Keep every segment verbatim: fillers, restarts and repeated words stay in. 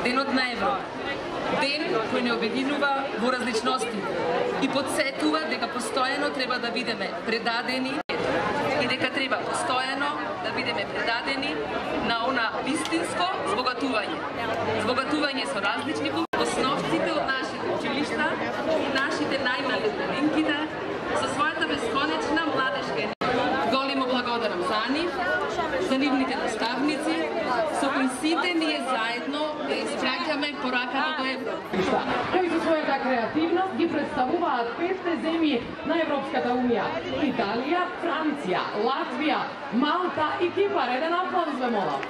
денот на Европа. Ден кој не обединува во различности и подсетува дека постојано треба да бидеме предадени и дека треба постојано да бидеме предадени на она вистинско збогатување. Збогатување со различни основците од нашите училишта и нашите најмали студентите со својата бесконечна младешка енергија. Големо благодарам за нив, за нивните наставници, со кои сите ние заедно да испраќаме пораката до Европа. Кои со својата креативност ги представуваат петте земји на Европската унија: Италија, Франција, Латвија, Малта и Кипар. Еден аплауз ве молам.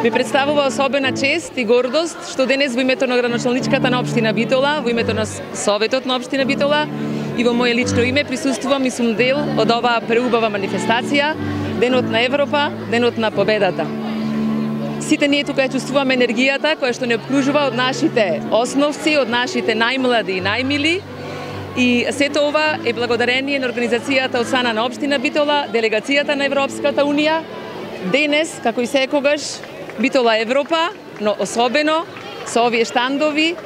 Ми представува особена чест и гордост што денес во името на градоначалничката на општина Битола, во името на Советот на општина Битола и во моје лично име присуствувам и сум дел од оваа преубава манифестација, Денот на Европа, Денот на победата. Сите ние тука ја чувствуваме енергијата која што не обкружува од нашите основци, од нашите најмлади и најмили. И сето ова е благодарение на организацијата од страна на општина Битола, делегацијата на Европската унија. Денес, како и секогаш, Битола е Европа, но особено со овие штандови.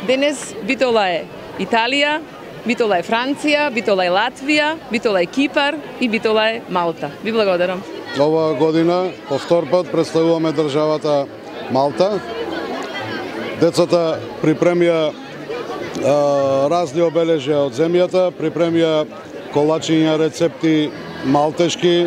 Денес Битола е Италија, Битола е Франција, Битола е Латвија, Битола е Кипар и Битола е Малта. Ви благодарам. Оваа година по втор пат представуваме државата Малта. Децата припремија а, разни обележја од земјата, припремија колачиња, рецепти малтешки,